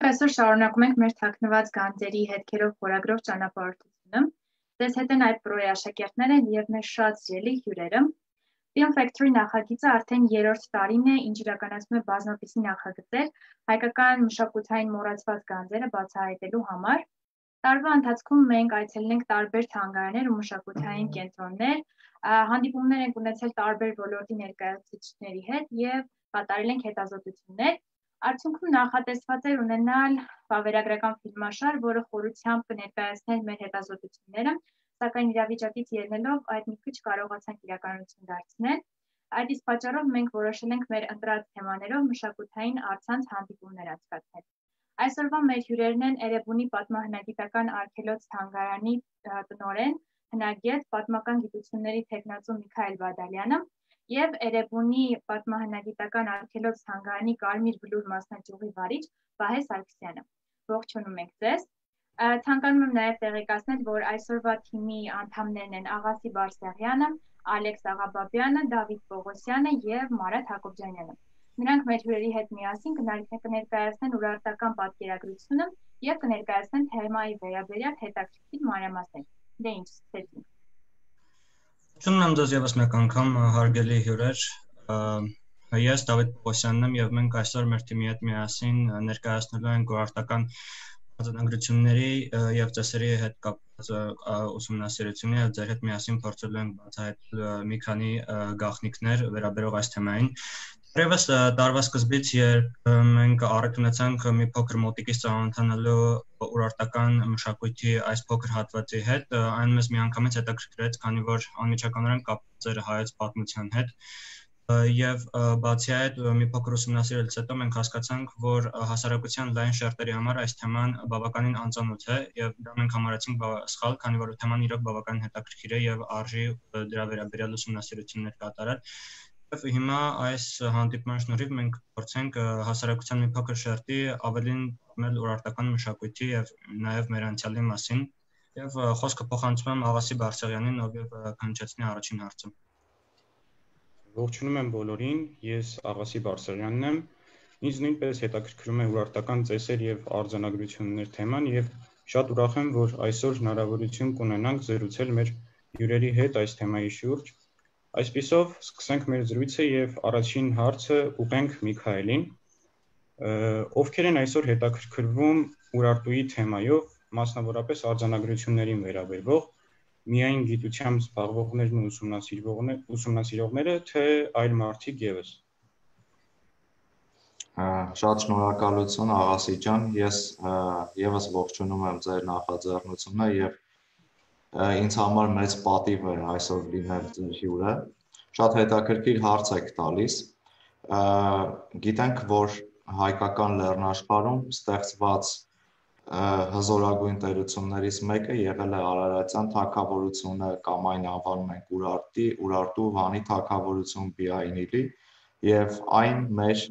Այսօր շարունակում ենք մեր թաքնված գանձերի հետքերով խորագրով ճանապարհորդությունը։ Ձեզ հետ են այդ պրոյի աշակերտները և մեր շատ սիրելի հյուրերը։ Film Factory նախագիծը արդեն 3-րդ տարին է, ինչ իրականացնում է բազմապիսի նախագծեր հայկական մշակութային մոռացված գանձերը բացահայտելու համար։ Տարվա ընթացքում մենք այցելել ենք տարբեր թանգարաններ ու մշակութային կենտրոններ, հանդիպումներ ենք ունեցել տարբեր ոլորտի ներկայացուցիչների հետ և կատարել ենք հետազոտություններ։ Արդյունքում նախատեսված էր ունենալ վավերագրական ֆիլմաշար, որը խորությամբ կներկայացներ մեր հետազոտությունները, սակայն իրավիճակից ելնելով այդ մի քիչ կարողացանք իրականություն դարձնել։ Այդ իսկ պատճառով մենք որոշել ենք մեր ընտրած թեմաներով մշակութային առցանց հանդիպումներ անցկացնել։ Այսօրվա մեր հյուրերն են Էրեբունի պատմահնագիտական արգելոց թանգարանի տնօրեն, հնագետ, պատմական գիտությունների թեկնածու Միքայել Բադալյանը և Էրեբունի պատմահնագիտական արգելոց թանգարանի Կարմիր Բլուր մասնաճյուղի վարիչ Վահե Սարգսյանը։ Ողջունում ենք ձեզ։ Ցանկանում եմ նաև տեղեկացնել, որ այսօրվա թիմի անդամներն են Աղասի Բարսեղյանը, Ալեքս Աղաբաբյանը, Դավիթ Պողոսյանը և Մարատ Հակոբյանյանը։ Նրանք մեր հյուրերի հետ միասին կներկայացնեն ուրարտական պատկերագրությունը և կներկայացնեն թեմայի վերաբերյալ հետաքրքիր մանրամասներ։ Դե ինչ, սկսեցինք։ Ողջունում եմ ձեզ ևս մեկ անգամ, հարգելի հյուրեր։ Ես Դավիթ Պողոսյանն եմ և մենք այսօր մեր թիմի հետ միասին ներկայացնելու ենք ուրարտական արձանագրությունների և ծեսերի հետ կապված ուսումնասիրությունը և ձեր հետ միասին փորձելու ենք բացահայտել մի քանի գաղտնիքներ վերաբերող այս թեմային։ Դեռևս տարվա սկզբից, երբ մենք առիթ ունեցանք մի փոքր մոտիկից ծանոթանալու ուրարտական մշակույթի այս փոքր հատվածի հետ, այն մեզ միանգամից հետաքրքրեց, քանի որ անմիջականորեն կապված էր հայոց պատմության հետ։ Եվ բացի այդ, մի փոքր ուսումնասիրելուց հետո մենք հասկացանք, որ հասարակության լայն շերտերի համար այս թեման բավականին անծանոթ է եւ դա մենք համարեցինք սխալ, քանի որ թեման իրոք բավականին հետաքրքիր է եւ արժի դրա վերաբերյալ ուսումնասիրություններ կատարել։ Եվ հիմա այս հանդիպման շնորհիվ մենք փորձենք հասարակության մի փոքր շերտի ավելին պատմել ուրարտական մշակույթի եւ նաեւ մեր անցյալի մասին։ Եվ խոսքը փոխանցում եմ Աղասի Բարսեղյանին, ով քննչեցնի առաջին հարցը։ Ողջունում եմ բոլորին, ես Աղասի Բարսեղյանն եմ։ Ինձ նույնպես հետաքրքրում է ուրարտական ծեսեր եւ արձանագրություններ թեման եւ շատ ուրախ եմ, որ այսօր հնարավորություն կունենանք զրուցել մեր հյուրերի հետ այս թեմայի շուրջ։ Այսպիսով, սկսենք մեր զրույցը եւ առաջին հարցը ուղենք Միքայելին։ Ովքեր են այսօր հետաքրքրվում ուրարտուի թեմայով, մասնավորապես արձանագրություններին վերաբերող, միայն գիտությամբ զբաղվողներն ու ուսումնասիրողները, թե այլ մարդիկ եւս։ Շատ շնորհակալություն Աղասի ջան, ես եւս ողջունում եմ ձեր նախաձեռնությունը եւ ինձ համար մեծ պատիվ է այսօր լինել ձեր հյուրը։ Շատ հետաքրքիր հարց եք տալիս։ Գիտենք, որ հայկական լեռնաշխարհում ստեղծված հզորագույն տերություններից մեկը եղել է Արարատյան թագավորությունը կամ այն անվանում ենք Ուրարտու Վանի թագավորություն Բիայնիլի եւ այն մեր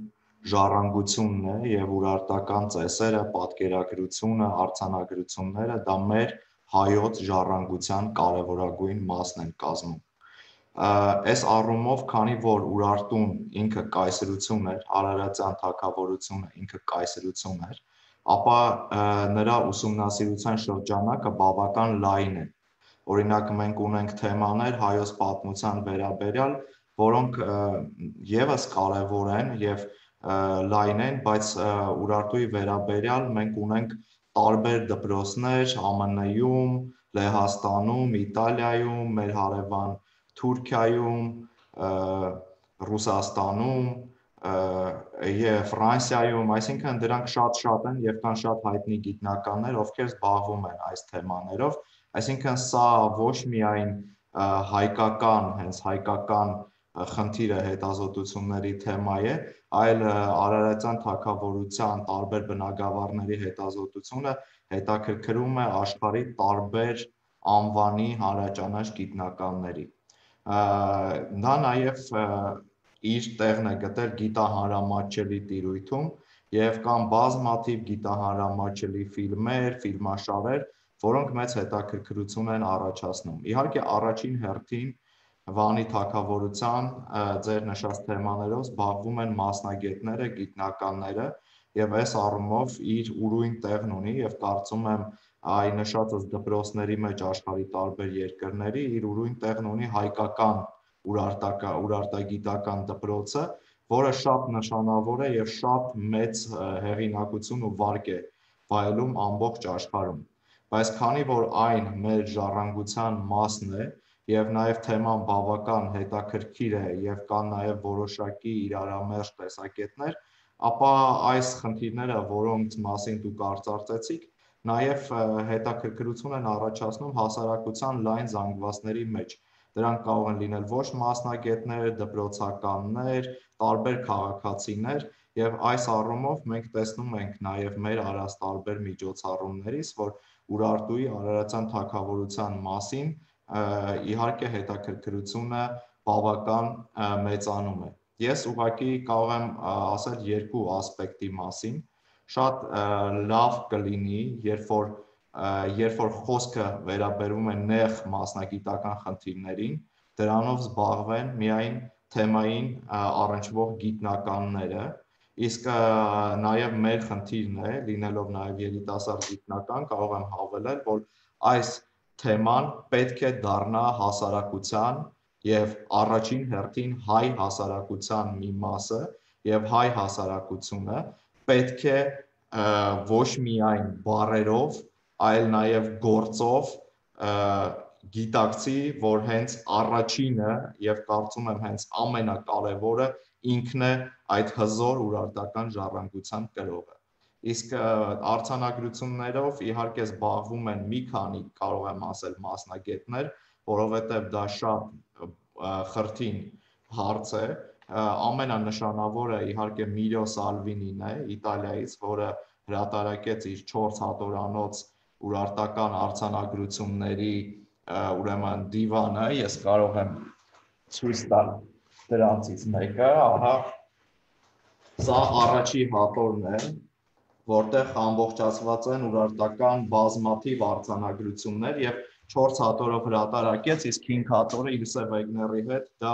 ժառանգությունն է եւ ուրարտական ծեսերը, պատկերագրությունը, արձանագրությունները դա մեր հայոց ժառանգության կարևորագույն մասն են կազմում։ Այս առումով, քանի որ Ուրարտուն ինքը կայսրություն էր, Արարատյան թագավորությունը ինքը կայսրություն էր, ապա նրա ուսումնասիրության շրջանակը բավական լայն է։ Օրինակ մենք ունենք թեմաներ հայոց պատմության վերաբերյալ, որոնք եւս կարեւոր են եւ լայն են, բայց Ուրարտուի վերաբերյալ մենք ունենք տարբեր դպրոցներ ԱՄՆ-ում, Լեհաստանում, Իտալիայում, մեր հարևան Թուրքիայում, Ռուսաստանում եւ Ֆրանսիայում, այսինքն դրանք շատ են եւ կան շատ հայտնի գիտնականներ, ովքեր զբաղվում են այս թեմաներով, այսինքն սա ոչ միայն հայկական, հենց հայկական խնդիրը հետազոտությունների թեմա է, այլ Արարատյան թագավորության տարբեր բնագավառների հետազոտությունը հետաքրքրում է աշխարհի տարբեր անվանի հանրաճանաչ գիտնականների։ Դա նաև իր տեղն է գտել գիտահանրամատչելի տիրույթում եւ կան բազմաթիվ գիտահանրամատչելի ֆիլմեր, ֆիլմաշարեր, որոնք մեծ հետաքրքրություն են առաջացնում։ Իհարկե առաջին հերթին Վանի թագավորության ձեր նշած թեմաներով զբաղվում են մասնագետները, գիտնականները, եւ այս առումով իր ուրույն տեղն ունի եւ կարծում եմ այ նշածս դպրոցների մեջ աշխարհի տարբեր երկրների իր ուրույն տեղն ունի հայկական urարտագիտական դպրոցը, որը շատ նշանավոր է եւ շատ մեծ հեղինակություն ու վարկ է վայելում ամբողջ աշխարհում։ Բայց քանի որ այն մեր ժառանգության մասն է եւ նաեւ թեման բավական հետաքրքիր է եւ կան նաեւ որոշակի իրարամերժ տեսակետներ, ապա այս խնդիրները, որոնց մասին դուք արծարծեցիք, նաև հետաքրքրություն են առաջացնում հասարակության լայն զանգվածների մեջ։ Դրանք կարող են լինել ոչ մասնագետներ, դպրոցականներ, տարբեր քաղաքացիներ, եւ այս առումով մենք տեսնում ենք նաև մեր արած տարբեր միջոցառումներից, որ Ուրարտուի Արարատյան թագավորության մասին իհարկե հետաքրքրությունը բավական մեծանում է։ Ես ուղղակի կարող եմ ասել երկու ասպեկտի մասին։ Շատ լավ կլինի, երբ որ խոսքը վերաբերում է նեղ մասնագիտական խնդիրներին, դրանով զբաղվեն միայն թեմային առնչվող գիտնականները, իսկ նաև մեր խնդիրն է, լինելով նաև երիտասարդ գիտնական, կարող եմ հավելել, որ այս թեման պետք է դառնա հասարակության եւ առաջին հերթին հայ հասարակության մի մասը եւ հայ հասարակությունը պետք է ոչ միայն բառերով, այլ նաև գործով գիտակցի, որ հենց առաջինը եւ կարծում եմ հենց ամենակարևորը ինքն է այդ հզոր urարտական ժառանգության կրողը։ Իսկ արձանագրություններով իհարկե զբաղվում են մի քանի, կարող եմ ասել, մասնագետներ, որովհետեւ դա շատ խրթին հարց է։ Ամենանշանավորը իհարկե Միլիո Սալվինին է Իտալիայից, որը հրատարակեց իր 4 հատորանոց urարտական արձանագրությունների ուրեմն դիվանը, ես կարող եմ ցույց տալ դրանցից մեկը, ահա սա առաջի հատորն է, որտեղ ամբողջացված են urարտական բազմաթիվ արձանագրություններ եւ 4 հատորով հրատարակեց, իսկ 5 հատորը Իլսե Վեգների հետ դա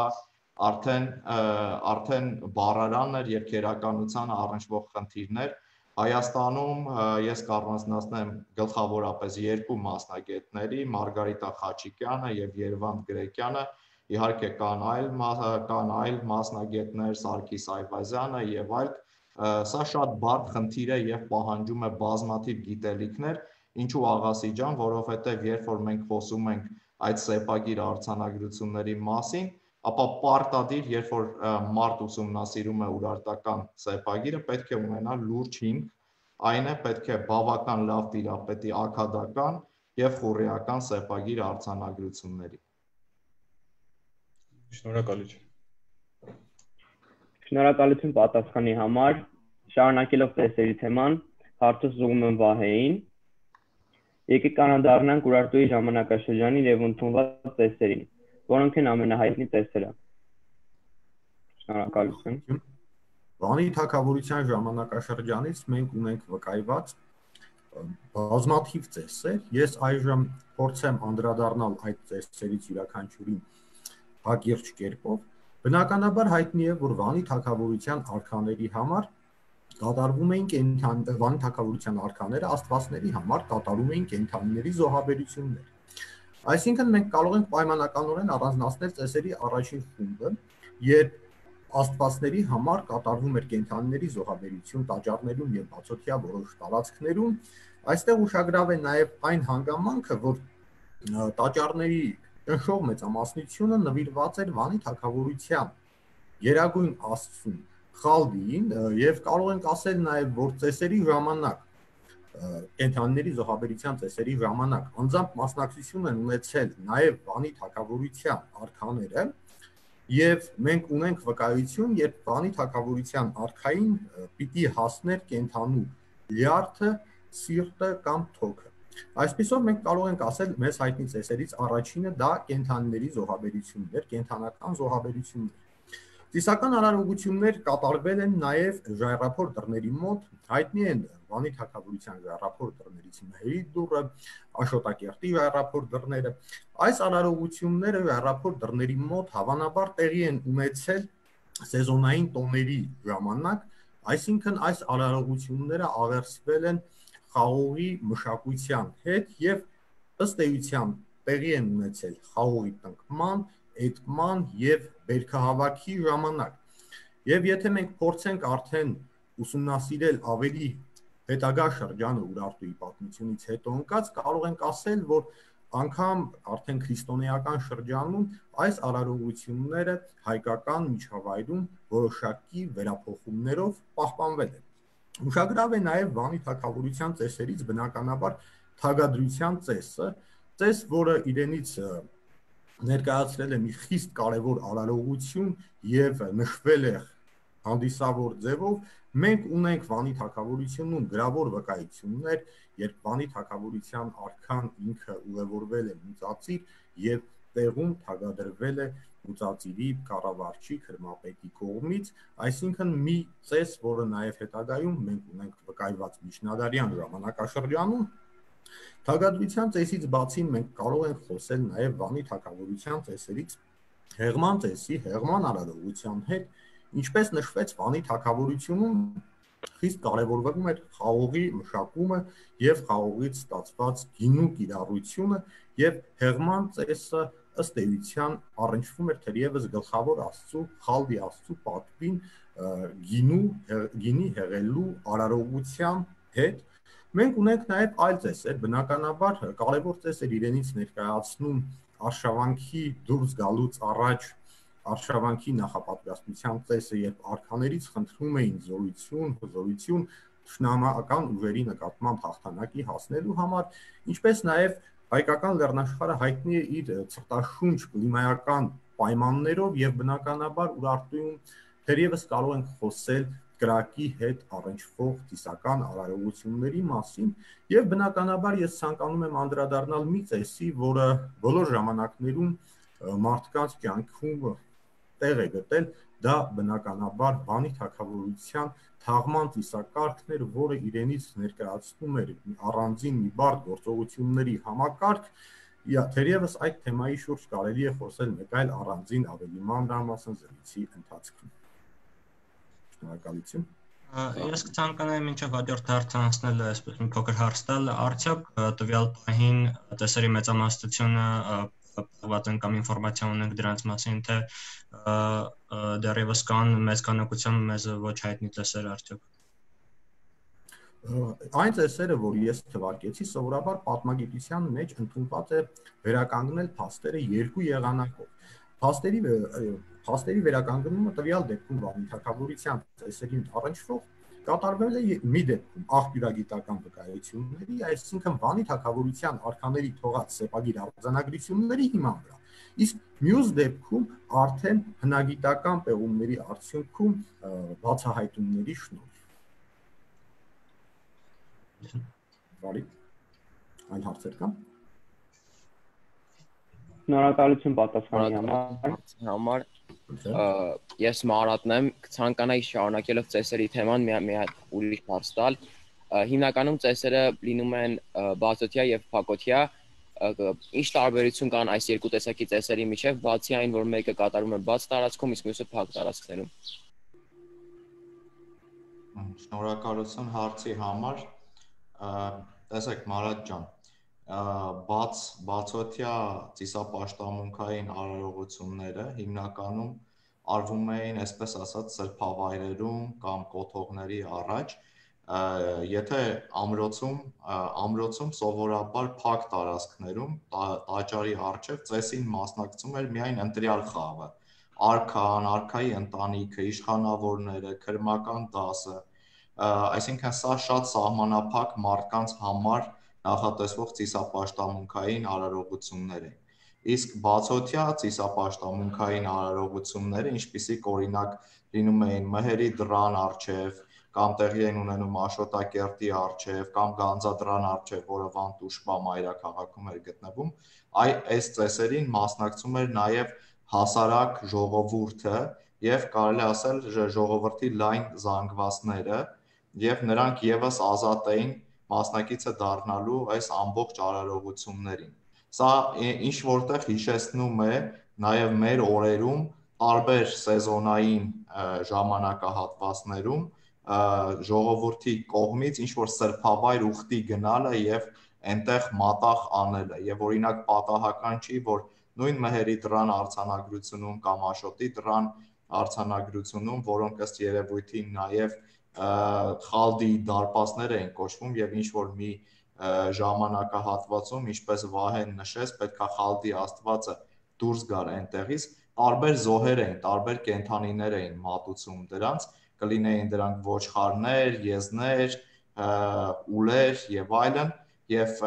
արդեն բառարանն էր եւ քերականության առնչվող խնդիրներ։ Հայաստանում ես կառանձնացնեմ գլխավորապես երկու մասնագետների՝ Մարգարիտա Խաչիկյանը եւ Երվանդ Գրեկյանը, իհարկե կան այլ մասնագետներ, Սարգիս Այվազյանը եւ այլ։ Սա շատ բարդ խնդիր է եւ պահանջում է բազմաթիվ գիտելիքներ, ինչու Աղասի ջան, որովհետեւ երբ որ մենք խոսում ենք այդ սեպագիր արձանագրությունների մասին, ապա պարտադիր, երբ որ մարդ ուսումնասիրում է urարտական սեպագիրը, պետք է ունենա լուրջ հիմք, այն է պետք է բավական լավ տիրապետի ակադական եւ խորհրդական սեպագիր արձանագրությունների։ Շնորհակալություն։ Շնորհակալություն պատասխանի համար։ Շարունակելով տեսերի թեման, հարցը ուղղում եմ Վահեին։ Եկեք անդառնանք Ուրարտուի ժամանակաշրջանին եւ ընդունված տեսերին, որոնք են ամենահայտնի տեսերը։ Շնորհակալություն։ Վանի թագավորության ժամանակաշրջանից մենք ունենք վկայված բազմաթիվ ծեսեր։ Ես այժմ փորձեմ անդրադառնալ այդ ծեսերից յուրաքանչյուրին հակիրճ կերպով։ Բնականաբար հայտնի է, որ Վանի թագավորության արքաների համար կատարվում էին Վանի թագավորության արքաները աստվածների համար կատարում էին կենդանիների զոհաբերություններ։ Այսինքն մենք կարող ենք պայմանականորեն առանձնացնել ծեսերի առաջին խումբը, երբ աստվածների համար կատարվում էր կենդանիների զոհաբերություն տաճարներում եւ բացօթյա որոշ տարածքներում, այստեղ ուշագրավ է նաեւ այն հանգամանքը, որ տաճարների ճնշող մեծամասնությունը նվիրված էր Վանի թագավորության գերագույն աստծուն Խալդիին եւ կարող ենք ասել նաեւ, որ ծեսերի ժամանակ կենդանիների զոհաբերության ծեսերի ժամանակ անձամբ մասնակցություն են ունեցել նաեւ Վանի թագավորության արքաները եւ մենք ունենք վկայություն, երբ Վանի թագավորության արքային պիտի հասներ կենդանու լյարդը, սիրտը կամ թոքը։ Այսպիսով մենք կարող ենք ասել մեզ հայտնի ծեսերից առաջինը դա կենդանիների զոհաբերությունն էր, կենդանական զոհաբերություններ։ Ծիսական արարողություններ կատարվել են նաև ժայռափոր դռների մոտ, հայտնի են Վանի թագավորության ժայռափոր դռներից Մհերի դուռը, Աշոտակերտի ժայռափոր դռները։ Այս արարողությունները ժայռափոր դռների մոտ հավանաբար տեղի են ունեցել սեզոնային տոների ժամանակ, Այսինքն այս արարողությունները աղերսվել են խաղողի մշակության հետ եւ ըստ էության տեղի են ունեցել խաղողի տնկման, էտման եւ բերքահավաքի ժամանակ։ Եվ եթե մենք փորձենք արդեն ուսումնասիրել ավելի հետագա շրջանը Ուրարտուի պատմությունից հետո ընկած, կարող ենք ասել, որ անգամ արդեն քրիստոնեական շրջանում այս արարողությունները հայկական միջավայրում որոշակի վերափոխումներով պահպանվել են։ Ուշագրավ է նաև Վանի թագավորության ծեսերից բնականաբար թագադրության ծեսը, ծես, որը իրենից ներկայացրել է մի խիստ կարևոր արարողություն եւ նշվել է հանդիսավոր ձևով։ Մենք ունենք Վանի թագավորությունում գրավոր վկայություններ, երբ Վանի թագավորության արքան ինքը ուղևորվել է Մուծածիր եւ տեղում թագադրվել է Մուծածիրի կառավարչի Քրմապետի կողմից, այսինքն մի ծես, որը նաեւ հետագայում մենք ունենք վկայված միջնադարյան ժամանակաշրջանում։ Թագադրության ծեսից բացի մենք կարող ենք խոսել նաեւ Վանի թագավորության ծեսերից Հեղման ծեսի, Հեղման արարողության հետ, ինչպես նշվեց Վանի թագավորությունում խիստ կարևորվում էր խաղողի մշակումը եւ խաղողից ստացված գինու կիրառությունը եւ Հեղման ծեսը ըստ էության առնչվում էր թերևս գլխավոր աստծու Խալդի աստծու պատվին գինի հեղելու արարողության հետ։ Մենք ունենք նաեւ այլ ծեսեր, բնականաբար կարևոր ծեսեր իրենից ներկայացնում արշավանքի դուրս գալուց առաջ արշավանքի նախապատրաստության ծեսը, երբ արքաներից խնդրում էին զորություն թշնամական ուժերի նկատմամբ հաղթանակի հասնելու համար, ինչպես նաև հայկական լեռնաշխարհը հայտնի է իր ցրտաշունչ կլիմայական պայմաններով եւ բնականաբար Ուրարտուում թերևս կարող ենք խոսել կրակի հետ առնչվող ծիսական արարողությունների մասին եւ բնականաբար ես ցանկանում եմ անդրադառնալ մի ծեսի, որը բոլոր ժամանակներում մարդկանց կյանքում տեղ է գտել, դա բնականաբար Վանի թագավորության թաղման ծիսակարգն էր, որը իրենից ներկայացնում էր առանձին մի բարդ գործողությունների համակարգ։ Թերևս այդ թեմայի շուրջ կարելի է խոսել մեկ այլ առանձին ավելի մանրամասն զրույցի ընթացքում։ Շնորհակալություն։ Ես կցանկանայի մինչև հաջորդ հարցը անցնել այսպես մի փոքր հարց տալ, արդյոք տվյալ պահին տեսերի մեծամասնությունը պահված են կամ ինֆորմացիա ունենք դրանց մասին, թե դեռևս կան մեծ քանակությամբ մեզ ոչ հայտնի տեսեր արդյոք։ Այն ծեսերը, որ ես թվարկեցի, սովորաբար պատմագիտության մեջ ընդունված է վերականգնել փաստերը երկու եղանակով։ Փաստերի վերականգնումը տվյալ դեպքում Վանի թագավորության ծեսերին առնչվող կատարվել է մի դեպքում աղբյուրագիտական վկայությունների, այսինքն Վանի թագավորության արքաների թողած սեպագիր արձանագրությունների հիման վրա, իսկ մյուս դեպքում արդեն հնագիտական պեղումների արդյունքում բացահայտումների շնորհիվ։ Բարի, այլ հարցեր կան։ Շնորհակալություն պատասխանի համար։ Ես Մարատն եմ, ցանկանայի շարունակելով ծեսերի թեման մի հատ ուրիշ հարց տալ։ Հիմնականում ծեսերը լինում են բացօթյա եւ փակօթյա, ինչ տարբերություն կան այս երկու տեսակի ծեսերի միջև, բացի այն, որ մեկը կատարվում է բաց տարածքում, իսկ մյուսը փակ տարածքներում։ Շնորհակալություն հարցի համար։ Տեսեք Մարատ ջան, բացօթյա ծիսապաշտամունքային արարողությունները հիմնականում արվում էին, այսպես ասած, սրբավայրերում կամ կոթողների առաջ, եթե ամրոցում սովորաբար փակ տարածքներում տաճարի առջև ծեսին մասնակցում էր միայն ընտրյալ խավը, արքան, արքայի ընտանիքը, իշխանավորները, քրմական դասը, այսինքն սա շատ սահմանափակ մարդկանց համար նախատեսվող ծիսապաշտամունքային արարողություններ են։ Իսկ բացօթյա ծիսապաշտամունքային արարողությունները, ինչպիսիք օրինակ լինում էին Մհերի դռան առջև, կամ տեղի են ունենում Աշոտակերտի առջև, կամ Գանձադրան առջև, որը Վանտուշպա մայրաքաղաքում էր գտնվում, այս ծեսերին մասնակցում էր նաև հասարակ ժողովուրդը եւ կարելի ասել ժողովրդի լայն զանգվածները, եւ նրանք եւս ազատ էին մասնակիցը դառնալու այս ամբողջ արարողություններին։ Սա ինչ որտեղ հիշեցնում է նաեւ մեր օրերում տարբեր սեզոնային ժամանակահատվածներում ժողովրդի կողմից ինչ որ սրբավայր ուխտի գնալը եւ այնտեղ մատաղ անելը եւ օրինակ պատահական չի որ նույն Մեհերի դրան արձանագրությունում կամ Աշոտի դրան արձանագրությունում որոնք ըստ երևույթին նաեւ խալդի դարպասներ էին կոչվում եւ ինչ որ մի ժամանակահատվածում ինչպես Վահեն նշեց պետքա խալդի աստվածը դուրս գար այնտեղից տարբեր զոհեր էին տարբեր կենդանիներ էին մատուցում դրանց կլինեին դրանք ոչխարներ, եզներ, ուլեր եւ այլն եւ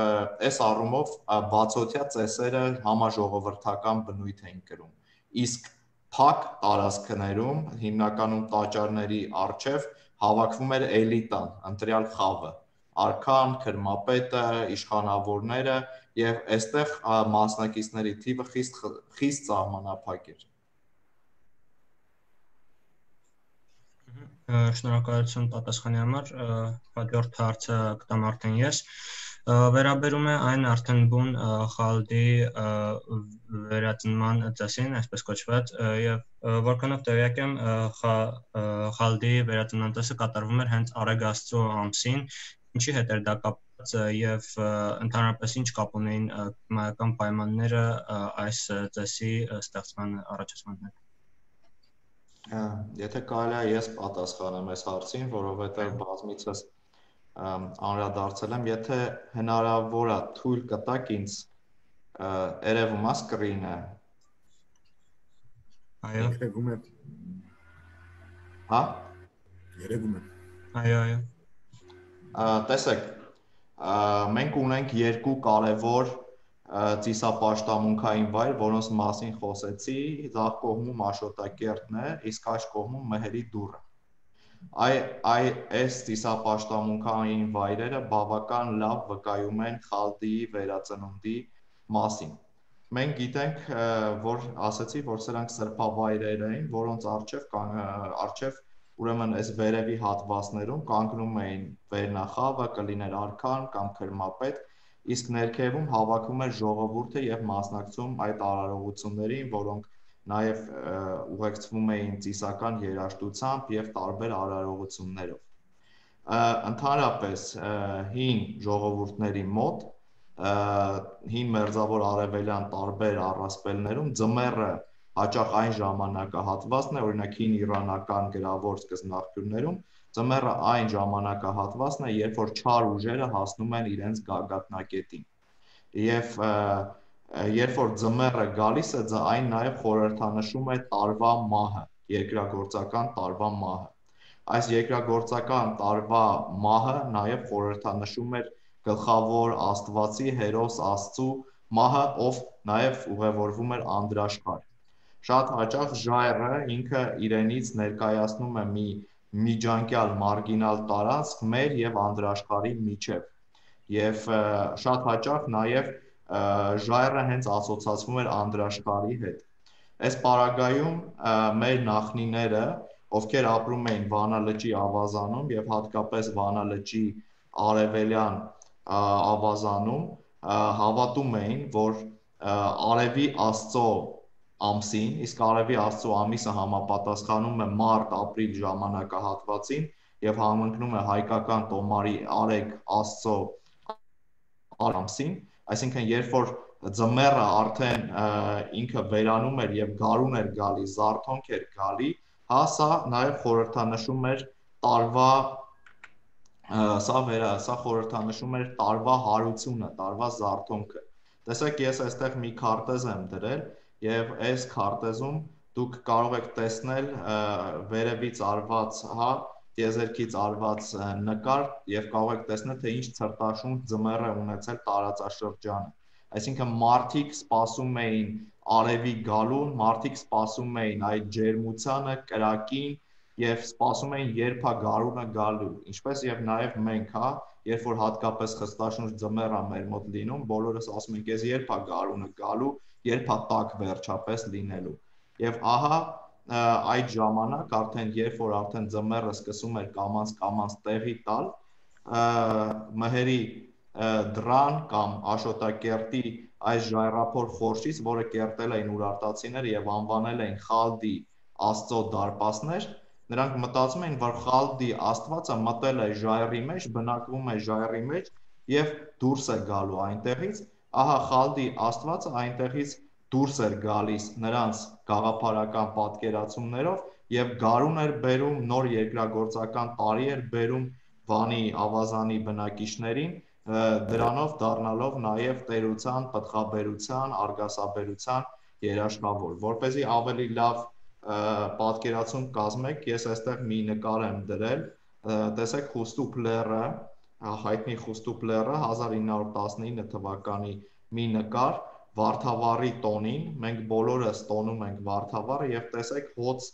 այս առումով բացօթյա ծեսերը համաժողովրդական բնույթ էին կրում իսկ փակ տարածքներում հիմնականում տաճարների առջև հավաքվում էր էլիտան, ընտրյալ խավը արքան, քրմապետը, իշխանավորները եւ այստեղ մասնակիցների թիվը խիստ սահմանափակ էր Շնորհակալություն պատասխանի համար հաջորդ հարցը կտամ արդեն ես վերաբերում է այն արդեն բուն խալդի վերածնման ծեսին այսպես կոչված եւ որքանով տեղյակ եմ խալդի վերածնման ծեսը կատարվում էր հենց Արեգ Աստծո ամսին ինչի հետ էր դա կապված եւ ընդհանրապես ինչ կապ ունեին կլիմայական պայմանները այս ծեսի ստեղծման առաջացման հետ Եթե կարելի է ես պատասխանեմ այս հարցին, որովհետև բազմիցս անդրադարձել եմ, եթե հնարավոր է թույլ կտաք ինձ երևում է սկրինը։ Այո։ Երևում է։ Հա? Երևում է։ Այո։ Տեսեք, մենք ունենք երկու կարևոր ծիսապաշտամունքային վայր, որոնց մասին խոսեցի, ձախ կողմում Աշոտակերտն է, իսկ աջ կողմում Մեհերի դուռը։ Այս ծիսապաշտամունքային վայրերը բավական լավ վկայում են խալդիի վերածնունդի մասին։ Մենք գիտենք, որ ասացի, որ սրանք սրբավայրեր էին, որոնց առջև ուրեմն այս վերևի հատվածներում կանգնում էին վերնախավը, կլիներ արքան կամ քրմապետ իսկ ներքևում հավաքում էր ժողովուրդը եւ մասնակցում այդ արարողություններին, որոնք նաեւ ուղեկցվում էին ծիսական երաժշտությամբ եւ տարբեր արարողություններով։ Ընդհանրապես հին ժողովուրդների մոտ հին մերձավոր արևելյան տարբեր առասպելներում ձմեռը հաճախ այն ժամանակահատվածն է, օրինակ հին իրանական գրավոր սկզբնաղբյուրներում Ձմեռը այն ժամանակահատվածն է, երբ որ չար ուժերը հասնում են իրենց գագաթնակետին։ Եվ երբ որ ձմեռը գալիս է, այն նաև խորհրդանշում է տարվա մահը, երկրագործական տարվա մահը։ Այս երկրագործական տարվա մահը նաև խորհրդանշում էր գլխավոր աստվածի հերոս Աստծու մահը, ով նաև ուղևորվում էր անդրաշխար։ Շատ հաճախ ժայռը ինքը իրենից ներկայացնում է մի միջանկյալ մարգինալ տարածք մեր եւ անդրաշխարհի միջև եւ շատ հաճախ նաեւ ժայռը հենց ասոցացվում էր անդրաշխարհի հետ այս պարագայում մեր նախնիները ովքեր ապրում էին Վանա լճի ավազանում եւ հատկապես Վանա լճի արևելյան ավազանում հավատում էին որ արևի Աստծո ամսին, իսկ արևի Աստծո ամիսը համապատասխանում է մարտ-ապրիլ ժամանակահատվածին եւ համընկնում է հայկական տոմարի Արեգ Աստծո ամսին, այսինքն երբ որ ձմեռը արդեն ինքը վերանում էր եւ գարուն էր գալի, զարթոնք էր գալի, հա սա նաեւ խորհրդանշում էր տարվա սա խորհրդանշում էր տարվա հարությունը, տարվա զարթոնքը։ Տեսեք, ես այստեղ մի քարտեզ եմ դրել եւ այս քարտեզում դուք կարող եք տեսնել վերևից արված, հա, տիեզերքից արված նկար եւ կարող եք տեսնել թե ինչ ցրտաշունչ ձմեռ է ունեցել տարածաշրջանը։ Այսինքն մարդիկ սպասում էին արևի գալուն, մարդիկ սպասում էին այդ ջերմությանը, կրակին եւ սպասում էին երբ է գարունը գալու, ինչպես եւ նաեւ մենք, հա, երբ որ հատկապես խստաշունչ ձմեռ է մեր մոտ լինում, բոլորս ասում ենք, ես երբ է գարունը գալու, երբ է տաք վերջապես լինելու։ Եվ ահա այդ ժամանակ արդեն երբ որ արդեն ձմեռը սկսում էր կամաց տեղի տալ, Մեհերի դրան կամ Աշոտակերտի այս ժայռափոր խորշից, որը կերտել էին ուրարտացիները եւ անվանել էին Խալդի Աստծո դարպասներ, նրանք մտածում էին, որ Խալդի Աստվածը մտել է ժայռի մեջ, բնակվում է ժայռի մեջ եւ դուրս է գալու այնտեղից, ահա Խալդի Աստվածը այնտեղից դուրս էր գալիս նրանց գաղափարական պատկերացումներով եւ գարուն էր բերում, նոր երկրագործական տարի էր բերում Վանի ավազանի բնակիչներին, դրանով դառնալով նաեւ տերության, պտղաբերության, արգասաբերության երաշխավոր, որպեսզի ավելի լավ պատկերացում կազմեք, ես այստեղ մի նկար եմ դրել, տեսեք Խուստուփ լեռը, հայտնի Խուստուփ լեռը 1919 թվականի մի նկար, Վարդավառի տոնին, մենք բոլորս տոնում ենք Վարդավառը եւ տեսեք հոց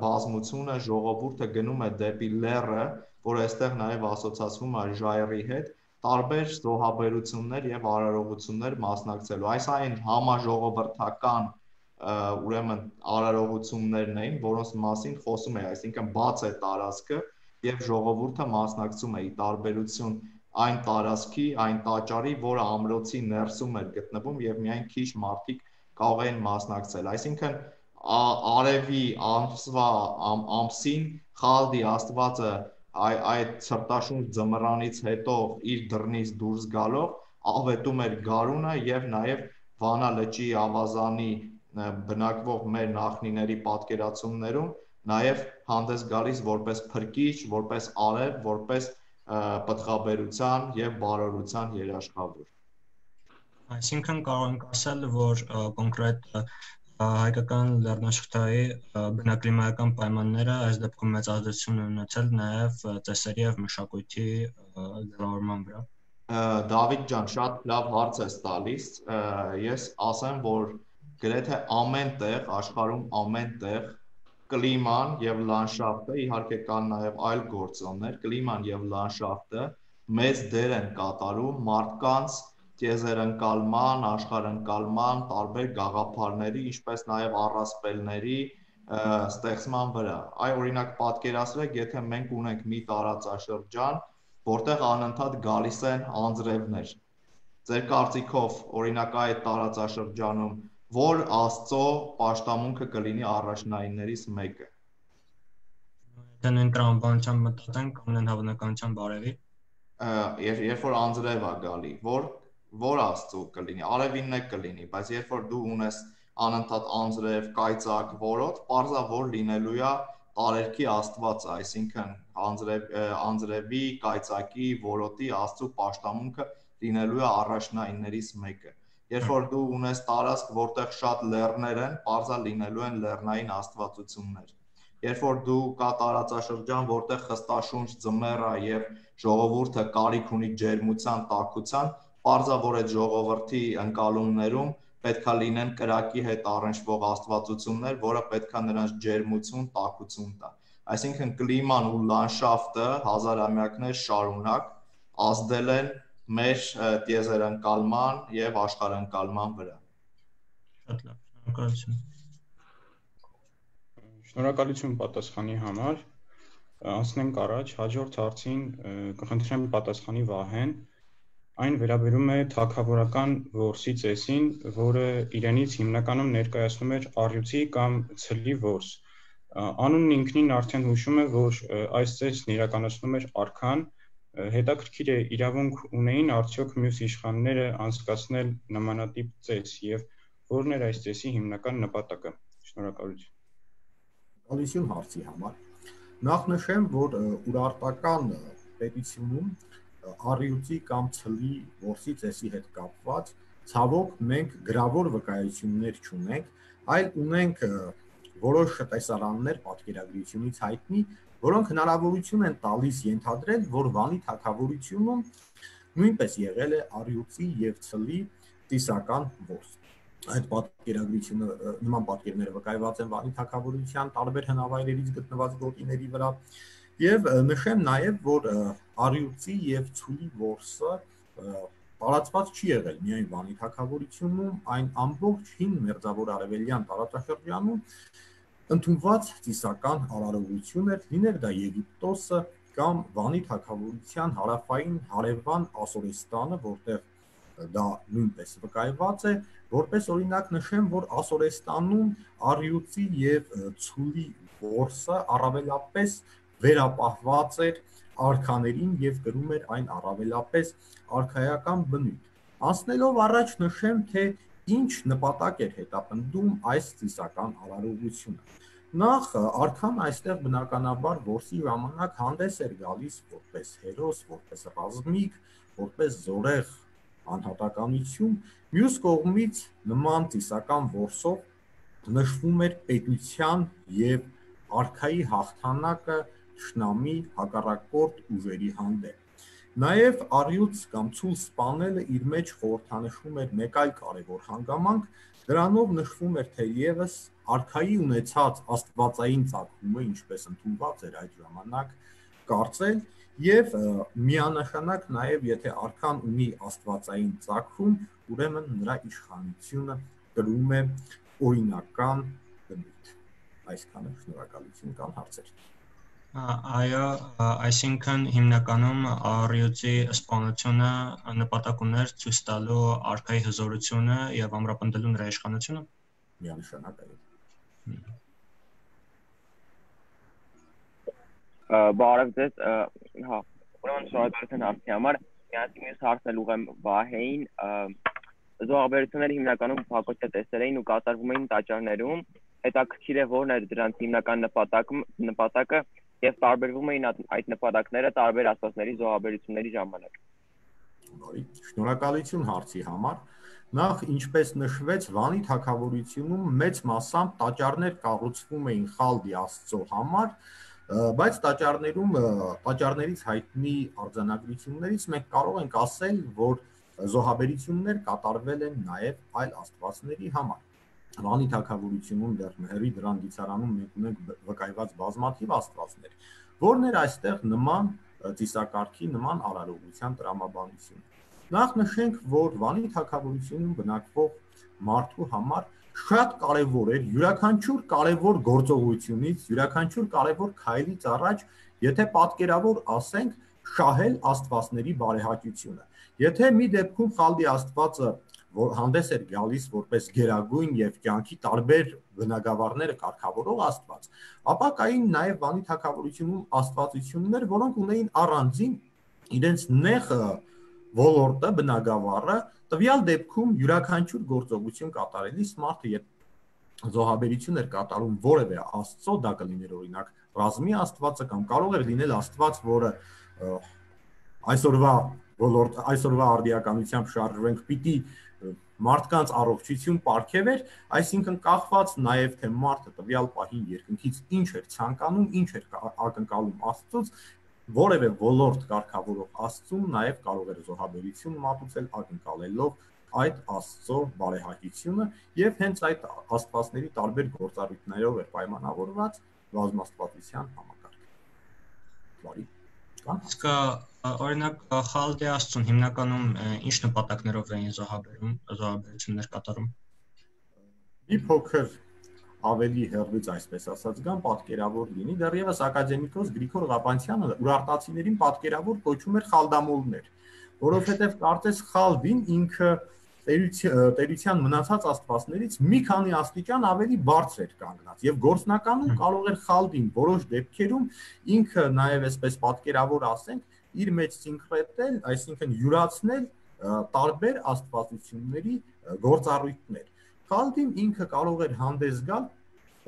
բազմությունը ժողովուրդը գնում է դեպի լեռը, որ այստեղ նաեւ ասոցացվում է ժայռի հետ, տարբեր զոհաբերություններ եւ արարողություններ մասնակցելու։ Այս այն համաժողովրդական ուրեմն արարողություններն էին, որոնց մասին խոսում է, այսինքն բաց է տարածքը եւ ժողովուրդը մասնակցում է ի տարբերություն այն տարածքի, այն տաճարի, որը ամրոցի ներսում էր գտնվում եւ միայն քիչ մարդիկ կարող էին մասնակցել։ Այսինքն արևի ամսին Խալդի Աստվածը այդ ցրտաշունչ ձմռանից հետո իր դռնից դուրս գալով ավետում էր գարունը եւ նաեւ Վանա լճի ավազանի բնակվող մեր նախնիների պատկերացումներում նաեւ հանդես գալիս որպես փրկիչ, որպես արև, որպես պտղաբերության եւ բարօրության երաշխավոր։ Այսինքն կարող ենք ասել, որ կոնկրետ հայկական լեռնաշղթայի բնակլիմայական պայմանները այս դեպքում մեծ ազդեցություն են ունեցել նաեւ ծեսերի եւ մշակույթի ձևավորման վրա։ Դավիթ ջան, շատ լավ հարց ես տալիս։ Ես ասեմ, որ գրեթե ամեն տեղ, աշխարհում ամեն տեղ կլիման եւ լանդշաֆտը, իհարկե կան նաեւ այլ գործոններ, կլիման եւ լանդշաֆտը մեծ դեր են կատարում մարդկանց տիեզերընկալման, աշխարհընկալման, տարբեր գաղափարների, ինչպես նաեւ առասպելների ստեղծման վրա։ Այ օրինակ պատկերացրեք, եթե մենք ունենք մի տարածաշրջան, որտեղ անընդհատ գալիս են անձրևներ։ Ձեր կարծիքով, օրինակ այդ տարածաշրջանում որ Աստծո պաշտամունքը կլինի առաջնայիններից մեկը։ Եթե նույն տրամաբանությամբ մտածենք, կամ նույն հավանականությամբ բարևի։ Երբ որ անձրև է գալի, որ Աստծո կլինի, արևինն է կլինի, բայց երբ որ դու ունես անընդհատ անձրև, կայծակ, որոտ, պարզա որ լինելու է տարերքի Աստվածը, այսինքն անձրևի, կայծակի, որոտի Աստծո պաշտամունքը լինելու է առաջնայիններից մեկը։ Երբ որ դու ունես տարածք, որտեղ շատ լեռներ են, պարզա լինելու են լեռնային աստվածություններ։ Երբ որ դու կա տարածաշրջան, որտեղ խստաշունչ ձմեռ է եւ ժողովուրդը կարիք ունի ջերմության, տաքության, պարզա որ այդ ժողովրդի ընկալումներում պետքա լինեն կրակի հետ առնչվող աստվածություններ, որը պետքա նրանց ջերմություն, տաքություն տա։ Այսինքն կլիման ու լանդշաֆտը հազարամյակներ շարունակ ազդել են մեր տիեզերընկալման եւ աշխարհընկալման վրա։ Շատ լավ, շնորհակալություն։ Շնորհակալություն պատասխանի համար։ Անցնենք առաջ, հաջորդ հարցին կխնդրեմ պատասխանի Վահեն։ Այն վերաբերում է թագավորական որսի ծեսին, որը իրենից հիմնականում ներկայացնում էր առյուծի կամ ցլի որս։ Անունն ինքնին արդեն հուշում է, որ այս ծեսն իրականացնում էր արքան, հետաքրքիր է իրավունք ունեին արդյոք մյուս իշխանները անցկացնել նմանատիպ ծես եւ որն էր այս ծեսի հիմնական նպատակը։ Շնորհակալություն։ Ալիսյուն հարցի համար։ Նախ նշեմ, որ ուրարտական պետությունում առյուծի կամ ցլի որսի ծեսի հետ կապված ցավոք մենք գրավոր վկայություններ չունենք, այլ ունենք որոշ տեսարաններ պատկերագրությունից հայտնի, որոնք հնարավորություն են տալիս ենթադրել, որ Վանի թագավորությունում նույնպես եղել է առյուծի եւ ցլի ծիսական որս։ Այդ պատկերագրությունը նման պատկերները վկայված են Վանի թագավորության տարբեր հնավայրերից գտնված գոտիների վրա եւ նշեմ նաեւ, որ առյուծի եւ ցուլի որսը տարածված չի եղել միայն Վանի թագավորությունում, այն ամբողջ հին մերձավոր արևելյան տարածաշրջանում ընդունված ծիսական արարողություն էր, լիներ դա Եգիպտոսը կամ Վանի թագավորության հարավային հարևան Ասորեստանը, որտեղ դա նույնպես վկայված է, որպես օրինակ նշեմ, որ Ասորեստանում առյուծի եւ ցուլի որսը առավելապես վերապահված էր արքաներին եւ կրում էր այն առավելապես արքայական բնույթ։ Անցնելով առաջ նշեմ, թե ինչ նպատակ էր հետապնդում այս ծիսական արարողությունը։ Նախ արքան այստեղ բնականաբար որսի ժամանակ հանդես էր գալիս որպես հերոս, որպես ռազմիկ, որպես զորեղ անհատականություն, մյուս կողմից նման ծիսական որսով նշվում էր պետության եւ արքայի հաղթանակը թշնամի հակառակորդ ուժերի հանդեպ։ Նաև առյուծ կամ ցուլ սպանելը իր մեջ խորհրդանշում էր մեկ այլ կարևոր հանգամանք, դրանով նշվում էր թերևս արքայի ունեցած աստվածային ծագումը, ինչպես ընդունված էր այդ ժամանակ կարծել, եւ միանշանակ նաև եթե արքան ունի աստվածային ծագում, ուրեմն նրա իշխանությունը կրում է օրինական բնույթ։ Այսքանը, շնորհակալություն, կան հարցեր։ Այո, այսինքն հիմնականում առյուծի սպանությունը նպատակ ուներ ցույց տալու արքայի հզորությունը եւ ամրապնդելու նրա իշխանությունը։ Միանշանակ այո։ Բարև ձեզ, հա, ուրեմն շնորհակալություն հարցի համար։ Միասին մյուս հարցն էլ ուղղեմ Վահեին։ Զոհաբերությունները հիմնականում փակոչյա տեսեր էին ու կատարվում էին տաճարներում։ Հետաքրքիր է որն է դրանց հիմնական նպատակը եւ տարբերվում էին այդ նպատակները տարբեր աստվածների զոհաբերությունների ժամանակ։ Բարի, շնորհակալություն հարցի համար։ Նախ, ինչպես նշվեց, Վանի թագավորությունում մեծ մասամբ տաճարներ կառուցվում էին Խալդի աստծո համար, բայց տաճարներից հայտնի արձանագրություններից մենք կարող ենք ասել, որ զոհաբերություններ կատարվել են նաև այլ աստվածների համար։ Վանի թագավորությունում դեռ Մհերի դրան դիցարանում մենք ունենք վկայված բազմաթիվ աստվածներ, որն էր այստեղ նման ծիսակարգի, նման արարողության տրամաբանություն։ Նախ նշենք, որ Վանի թագավորությունում բնակվող մարդու համար շատ կարևոր էր յուրաքանչյուր կարևոր գործողությունից, յուրաքանչյուր կարևոր քայլից առաջ, եթե պատկերավոր ասենք, շահել աստվածների բարեհաճությունը։ Եթե մի դեպքում Խալդի աստվածը որ հանդես էր գալիս որպես գերագույն եւ կյանքի տարբեր բնագավառները կարգավորող աստված, ապա կային նաեւ Վանի թագավորությունում աստվածություններ, որոնք ունեին առանձին իրենց նեղ ոլորտը, բնագավառը, տվյալ դեպքում յուրաքանչյուր գործողություն կատարելիս մարդը երբ զոհաբերություն էր կատարում որևէ աստծո, դա կլիներ օրինակ ռազմի աստվածը կամ կարող էր լինել աստված, որը այսօրվա արդիականությամբ շարժվենք, պիտի մարդկանց առողջություն պարգևեր, այսինքն կախված նաև թե մարդը տվյալ պահին երկնքից ինչ էր ցանկանում, ինչ էր ակնկալում Աստծուց, որևէ ոլորտ կարգավորող Աստծուն նաև կարող էր զոհաբերություն մատուցել ակնկալելով այդ Աստծո բարեհաճությունը եւ հենց այդ աստվածների տարբեր գործառույթներով էր պայմանավորված բազմաստվածության համակարգը։ Բարի։ Իսկ օրինակ Խալդի աստծուն հիմնականում ինչ նպատակներով էին զոհաբերություններ կատարում։ Մի փոքր ավելի հեռվից այսպես ասած գան պատկերավոր լինի, դեռևս ակադեմիկոս Գրիգոր Ղապանցյանը ուրարտացիներին պատկերավոր կոչում էր խալդամոլներ, որովհետև կարծես Խալդին ինքը տերության մնացած աստվածներից մի քանի աստիճան ավելի բարձր էր կանգնած եւ գործնականում կարող էր Խալդին որոշ դեպքերում ինքը նաեւ այսպես պատկերավոր ասենք իր մեջ սինկրետել, այսինքն յուրացնել տարբեր աստվածությունների գործառույթներ։ Խալդին ինքը կարող էր հանդես գալ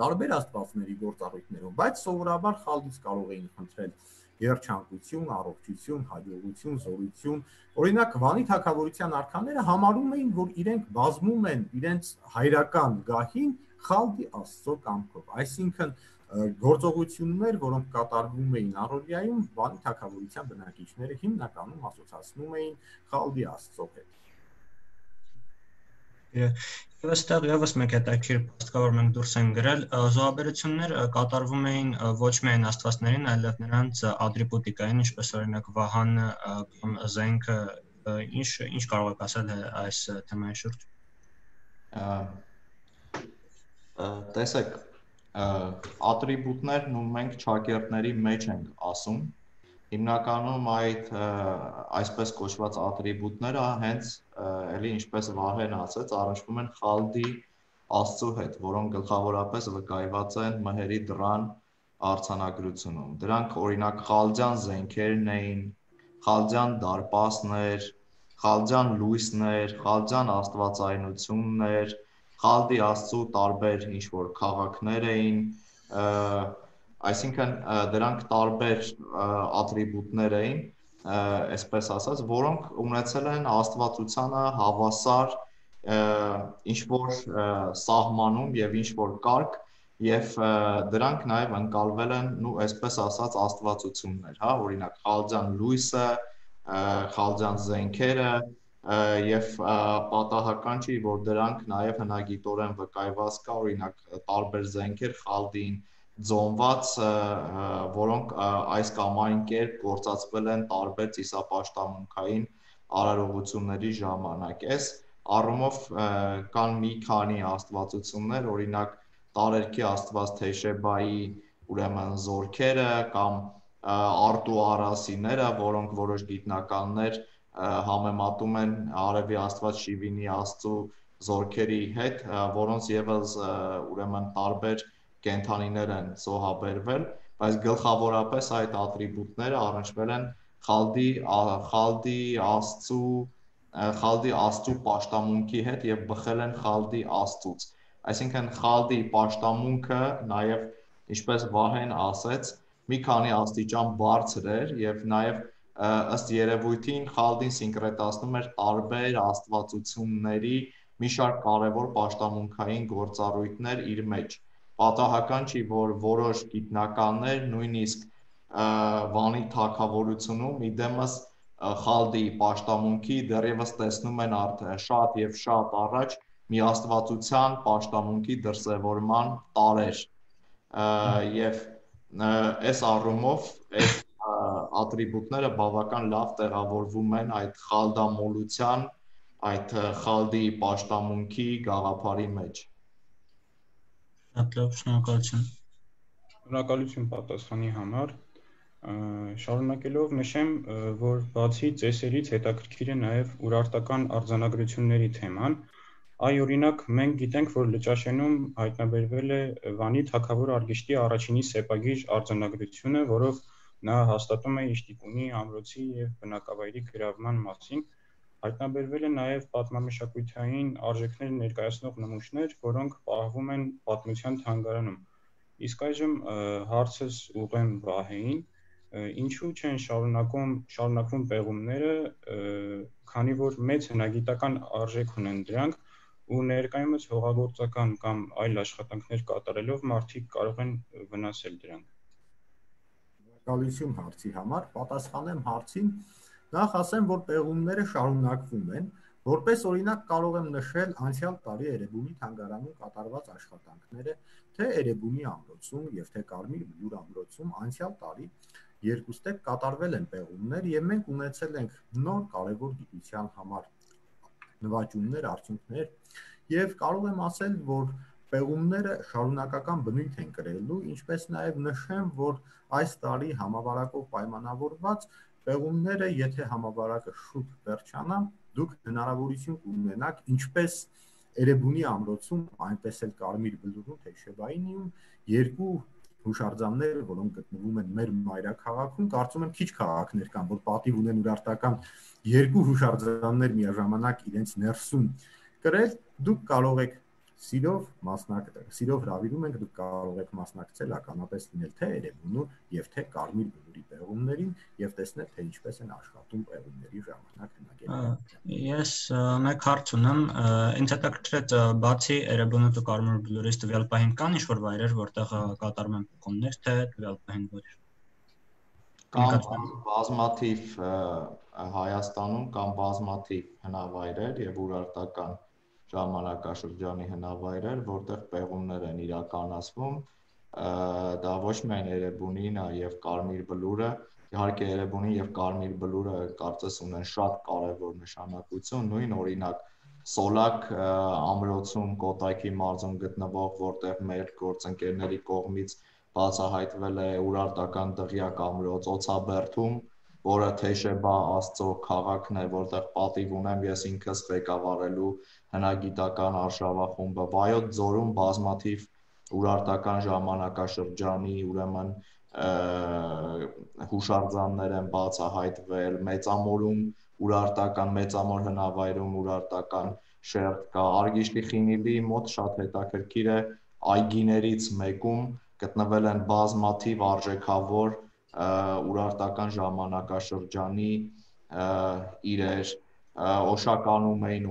տարբեր աստվածների գործառույթներով, բայց սովորաբար Խալդից կարող էին խնդրել երջանկություն, առողջություն, հաջողություն, զորություն։ Օրինակ Վանի թագավորության արքաները համարում էին, որ իրենք բազմում են իրենց հայրական գահին Խալդի աստծո կամքով։ Այսինքն գործողություններ, որոնք կատարվում էին առօրյայում, Վանի թագավորության բնակիչները հիմնականում ասոցացնում էին Խալդի աստծո հետ։ Եվ այստեղ եւս մեկ հետաքրքիր փաստ կա, որ մենք դուրս ենք գրել, զոհաբերություններ կատարվում էին ոչ միայն աստվածներին, այլև նրանց ատրիբուտիկային, ինչպես օրինակ վահանը կամ զենքը, ինչ կարող եք ասել այս թեմայի շուրջ։ Տեսեք, ատրիբուտներն ու մենք ճակերտների մեջ ենք ասում, հիմնականում այդ այսպես կոչված ատրիբուտները հենց էլի ինչպես Վահեն ասաց, առնչվում են Խալդի աստծո հետ, որոնք գլխավորապես վկայված են Մհերի դրան արձանագրությունում։ Դրանք օրինակ խալջան զենքերն էին, խալջան դարպասներ, խալջան լույսներ, խալջան աստվածայնություններ, խալդի աստծու տարբեր ինչ-որ քաղաքներ էին, այսինքն դրանք տարբեր ատրիբուտներ էին, այսպես ասած, որոնք ունեցել են աստվածությանը հավասար ինչ-որ սահմանում եւ ինչ-որ կարգ եւ դրանք նաեւ ընկալվել են, այսպես ասած, աստվածություններ, հա, օրինակ խալջան լույսը, խալջան զենքերը եւ պատահական չի, որ դրանք նաեւ հնագիտորեն վկայված կա, օրինակ տարբեր զենքեր խալդին ձոնված, որոնք այս կամ այն կերպ գործածվել են տարբեր ծիսապաշտամունքային արարողությունների ժամանակ։ Այս առումով կան մի քանի աստվածություններ, օրինակ տարերքի աստված Թեշեբայի ուրեմն զորքերը կամ Արտու Արասիները, որոնք որոշ գիտնականներ համեմատում են արևի աստված Շիվինի աստծու զորքերի հետ, որոնց եւս ուրեմն տարբեր կենդանիներ են զոհաբերվել, բայց գլխավորապես այդ ատրիբուտները առնչվել են խալդի աստծու պաշտամունքի հետ եւ բխել են խալդի աստծուց։ Այսինքն խալդի պաշտամունքը նաեւ, ինչպես Վահեն ասեց, մի քանի աստիճան բարձր էր եւ նաեւ ըստ երևույթին խալդին սինկրետացնում էր տարբեր աստվածությունների մի շարք կարևոր պաշտամունքային գործառույթներ իր մեջ։ Պատահական չի, որ որոշ գիտնականներ նույնիսկ Վանի թագավորությունում իդեմս խալդի պաշտամունքի դեռևս տեսնում են շատ եւ շատ առաջ մի աստվածության պաշտամունքի դրսևորման տարեր եւ այս առումով այս ատրիբուտները բավական լավ տեղավորվում են այդ խալդամոլության, այդ խալդի պաշտամունքի գաղափարի մեջ։ Շատ լավ, շնորհակալություն։ Շնորհակալություն պատասխանի համար։ Շարունակելով նշեմ, որ բացի ծեսերից հետաքրքիր է նաև ուրարտական արձանագրությունների թեման։ Այ օրինակ մենք գիտենք, որ Լճաշենում հայտնաբերվել է Վանի թագավոր Արգիշտի առաջինի սեպագիր արձանագրությունը, որով նա հաստատում է Իշտիկունի ամրոցի եւ բնակավայրի գրավման մասին։ Հայտնաբերվել է նաև պատմամշակութային արժեքներ ներկայացնող նմուշներ, որոնք պահվում են պատմության թանգարանում։ Իսկ այժմ հարցս ուղղեմ Վահեին, ինչու չեն շարունակվում պեղումները, քանի որ մեծ հնագիտական արժեք ունեն դրանք ու ներկայումս հողագործական կամ այլ աշխատանքներ կատարելով մարդիկ կարող են վնասել դրանք։ Շնորհակալություն հարցի համար, պատասխանեմ հարցին, նախ ասեմ, որ պեղումները շարունակվում են, որպես օրինակ կարող եմ նշել անցյալ տարի Էրեբունի թանգարանում կատարված աշխատանքները, թե Էրեբունի ամրոցում եւ թե Կարմիր Բլուր ամրոցում անցյալ տարի երկուստեք կատարվել են պեղումներ եւ մենք ունեցել ենք նոր կարևոր գիտության համար նվաճումներ, արդյունքներ եւ կարող եմ ասել, որ պեղումները շարունակական բնույթ են կրելու, ինչպես նաեւ նշեմ, որ այս տարի համավարակով պայմանավորված պեղումները, եթե համավարակը շուտ վերջանա, դուք հնարավորություն կունենաք ինչպես Էրեբունի ամրոցում, այնպես էլ Կարմիր Բլուրում, Թեշեբայինիում երկու հուշարձաններ, որոնք գտնվում են մեր մայրաքաղաքում, կարծում եմ քիչ քաղաքներ կան, որ պատիվ ունեն ուրարտական երկու հուշարձաններ միաժամանակ իրենց ներսում կրել, դուք կարող եք սիրով հրավիրում ենք, դուք կարող եք մասնակցել ականապես լինել թե Էրեբունու եւ թե Կարմիր Բլուրի պեղումներին եւ տեսնել, թե ինչպես են աշխատում պեղումների ժամանակ հնագետները։ Ես մեկ հարց ունեմ, ինձ հետաքրքրեց բացի Էրեբունու ու Կարմիր Բլուրից տվյալ պահին կան ինչ-որ վայրեր, որտեղ կատարվում են պեղումներ, թե տվյալ պահին ոչ։ Կան բազմաթիվ Հայաստանում կան բազմաթիվ հնավայրեր եւ ուրարտական ժամանակաշրջանի հնավայրեր, որտեղ պեղումներ են իրականացվում, դա ոչ միայն Էրեբունին է եւ Կարմիր Բլուրը, իհարկե Էրեբունին եւ Կարմիր Բլուրը կարծես ունեն շատ կարեւոր նշանակություն, նույն օրինակ Սոլակ ամրոցում Կոտայքի մարզում գտնվող, որտեղ մեր գործընկերների կողմից բացահայտվել է ուրարտական դղյակ ամրոց Օցաբերդում, որը Թեշեբա աստծո քաղաքն է, որտեղ պատիվ ունեմ ես ինքս ղեկավարելու հնագիտական արշավախումբը, Վայոց ձորում բազմաթիվ Ուրարտական ժամանակաշրջանի ուրեմն հուշարձաններ են բացահայտվել, մեծամորում ուրարտական մեծամոր հնավայրում ուրարտական շերտ կա, Արգիշտի խինիլի մոտ շատ հետաքրքիր է այգիներից մեկում գտնվել են բազմաթիվ արժեքավոր ուրարտական ժամանակաշրջանի իրեր, Օշականում էին,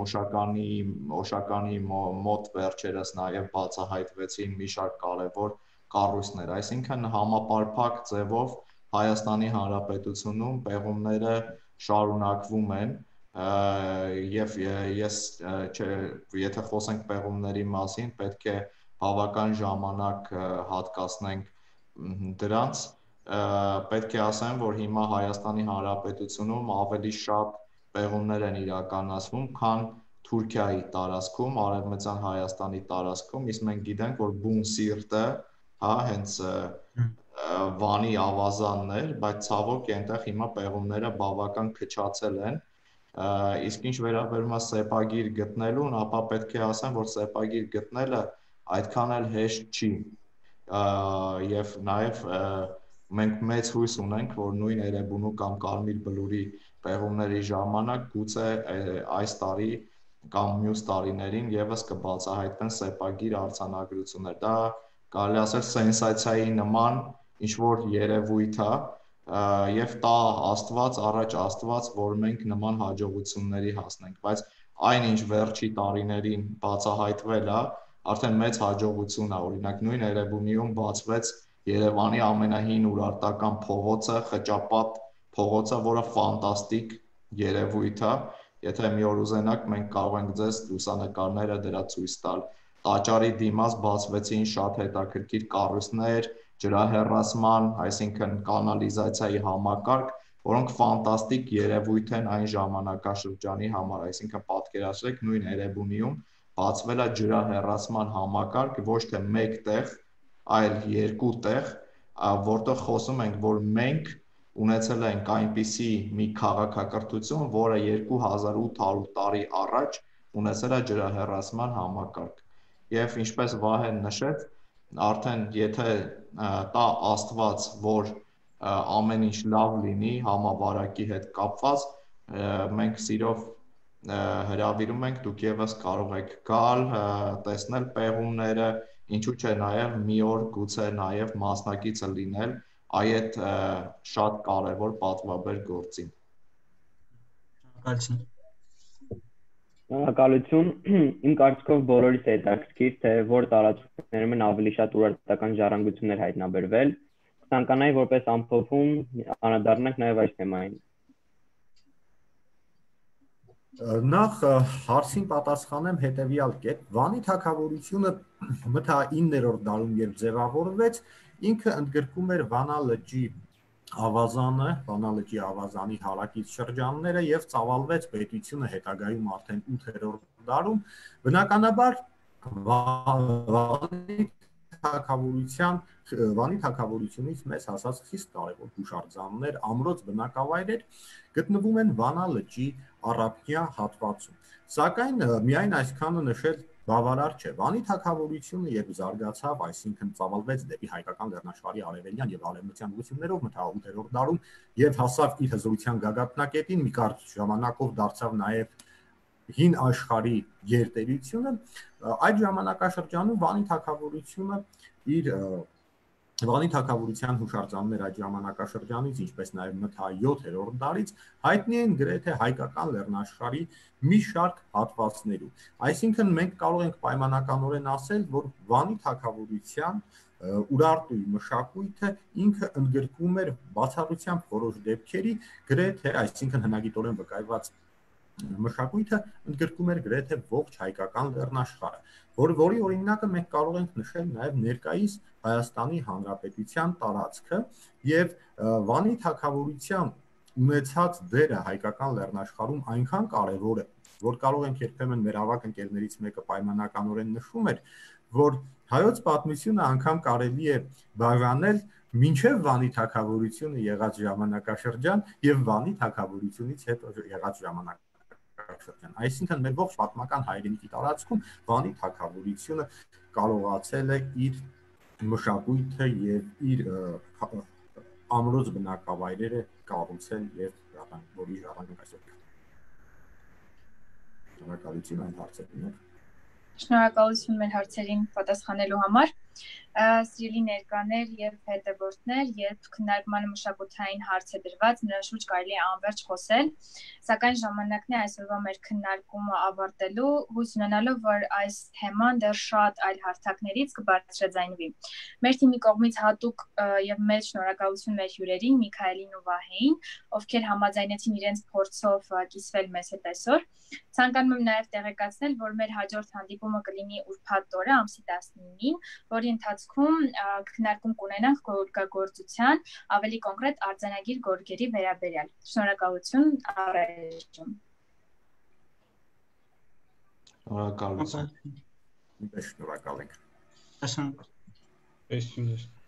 Օշականի մոտ վերջերս նաև բացահայտվեցին մի շարք կարևոր կառույցներ, այսինքն համապարփակ ձևով Հայաստանի Հանրապետությունում պեղումները շարունակվում են եւ ես եթե խոսենք պեղումների մասին, պետք է բավական ժամանակ հատկացնենք դրանց, պետք է ասեմ, որ հիմա Հայաստանի Հանրապետությունում ավելի շատ պեղումներ են իրականացվում, քան Թուրքիայի տարածքում, Արևմտյան Հայաստանի տարածքում, իսկ մենք գիտենք, որ բուն սիրտը, հա, հենց Վանի ավազանն էր, բայց ցավոք այնտեղ հիմա պեղումները բավական քչացել են, իսկ ինչ վերաբերում է սեպագիր գտնելուն, ապա պետք է ասեմ, որ սեպագիր գտնելը այդքան էլ հեշտ չի, եւ նաեւ մենք մեծ հույս ունենք, որ նույն Էրեբունու կամ Կարմիր բլուրի պեղումների ժամանակ գուցե այս տարի կամ մյուս տարիներին եւս կբացահայտվեն սեպագիր արձանագրություններ։ Դա կարելի ասել սենսացիայի նման ինչ որ երևույթ է եւ տա Աստված, առաջ Աստված, որ մենք նման հաջողությունների հասնենք, բայց այնինչ վերջի տարիներին բացահայտվել է, արդեն մեծ հաջողություն է, օրինակ նույն Էրեբունիում բացվեց Երևանի ամենահին ուրարտական փողոցը, Խճապատ փողոցը, որը ֆանտաստիկ երևույթ է, եթե մի օր ուզենաք, մենք կարող ենք ձեզ լուսանկարները դրա ցույց տալ։ Տաճարի դիմաց բացվեցին շատ հետաքրքիր կառույցներ, ջրահեռացման, այսինքն կանալիզացիայի համակարգ, որոնք ֆանտաստիկ երևույթ են այն ժամանակաշրջանի համար, այսինքն պատկերացրեք նույն Էրեբունիում բացվել է ջրահեռացման համակարգ ոչ թե մեկ տեղ, այլ երկու տեղ, որտեղ խոսում ենք, որ մենք ունեցել ենք այնպիսի մի քաղաքակրթություն, որը 2800 տարի առաջ ունեցել է ջրահեռացման համակարգ։ Եվ ինչպես Վահեն նշեց, արդեն եթե տա Աստված, որ ամեն ինչ լավ լինի համավարակի հետ կապված, մենք սիրով հրավիրում ենք, դուք եւս կարող եք գալ, տեսնել պեղումները, ինչու՞ չէ նաև մի օր գուցե նաև մասնակիցը լինել այդ շատ կարևոր պատվաբեր գործին։ Շնորհակալություն։ Իմ կարծիքով բոլորիս է հետաքրքիր, թե որ տարածքներում են ավելի շատ ուրարտական ժառանգություններ հայտնաբերվել։ Կցանկանայի որպես ամփոփում անդրադառնանք նաև այս թեմային։ Նախ հարցին պատասխանեմ հետևյալ կերպ, Վանի թագավորությունը մթա 9-րդ դարում երբ ձևավորվեց, ինքը ընդգրկում էր Վանա լճի ավազանը, Վանա լճի ավազանի հարակից շրջանները եւ ծավալվեց պետությունը հետագայում արդեն 8-րդ դարում, բնականաբար Վանի թագավորությունից մեզ հասած խիստ կարևոր հուշարձաններ, ամրոց բնակավայրեր գտնվում են Վանա լճի առափնյա հատվածում։ Սակայն միայն այսքանը նշել բավարար չէ։ Վանի թագավորությունը երբ զարգացավ, այսինքն ծավալվեց դեպի հայկական լեռնաշխարհի արևելյան եւ արևմտյան ուղղություններով մթա 8-րդ դարում եւ հասավ իր հզորության գագաթնակետին, մի կարճ ժամանակով դարձավ նաեւ հին աշխարհի գերտերությունը, այդ ժամանակաշրջանում Վանի թագավորության հուշարձաններ այդ ժամանակաշրջանից, ինչպես նաև մթա 7-րդ դարից, հայտնի են գրեթե հայկական լեռնաշխարհի մի շարք հատվածներում։ Այսինքն մենք կարող ենք պայմանականորեն ասել, որ Վանի թագավորության Ուրարտուի մշակույթը ինքը ընդգրկում էր բացառությամբ որոշ դեպքերի գրեթե, այսինքն հնագիտորեն վկայված մշակույթը ընդգրկում էր գրեթե ողջ հայկական լեռնաշխարհը, որի օրինակը մենք կարող ենք նշել նաև ներկայիս Հայաստանի Հանրապետության տարածքը եւ Վանի թագավորության ունեցած դերը հայկական լեռնաշխարհում այնքան կարեւոր է, որ կարող ենք երբեմն մեր ավագ ընկերներից մեկը պայմանականորեն նշում էր, որ հայոց պատմությունը անգամ կարելի է բաժանել մինչև Վանի թագավորությունը եղած ժամանակաշրջան եւ Վանի թագավորությունից հետո եղած ժամանակաշրջան։ ժամանակաշրջան։ Այսինքն մեր ողջ պատմական հայրենիքի տարածքում Վանի թագավորությունը կարողացել է իր մշակույթը եւ իր ամրոց բնակավայրերը կառուցել եւ որի ժառանգենք այսօր։ Շնորհակալություն այն հարցերին։ Շնորհակալություն մեր հարցերին պատասխանելու համար։ Սիրելի ներկաներ եւ հետևորդներ, երբ քննարկմանը մշակութային հարց է դրված, նրա շուրջ կարելի է անverջ խոսել, սակայն ժամանակն է այսօրվա մեր քննարկումը ավարտելու, հույս ունենալով, որ այս թեման դեռ շատ այլ հարթակներից կբարձրաձայնվի։ Մեր թիմի կողմից հատուկ եւ մեծ շնորհակալություն մեր հյուրերին Միքայելին ու Վահեին, ովքեր համաձայնեցին իրենց փորձով կիսվել մեզ հետ այսօր։ Ցանկանում եմ նաեւ տեղեկացնել, որ մեր հաջորդ հանդիպումը կլինի ուրբաթ օրը ամսի 19-ին, որի ընթացքում քննարկում կունենանք գորգագործության, ավելի կոնկրետ արձանագիր գորգերի վերաբերյալ։ Շնորհակալություն առայժմ։ Շնորհակալություն։ Շնորհակալ ենք։ Այսինքն Այսինքն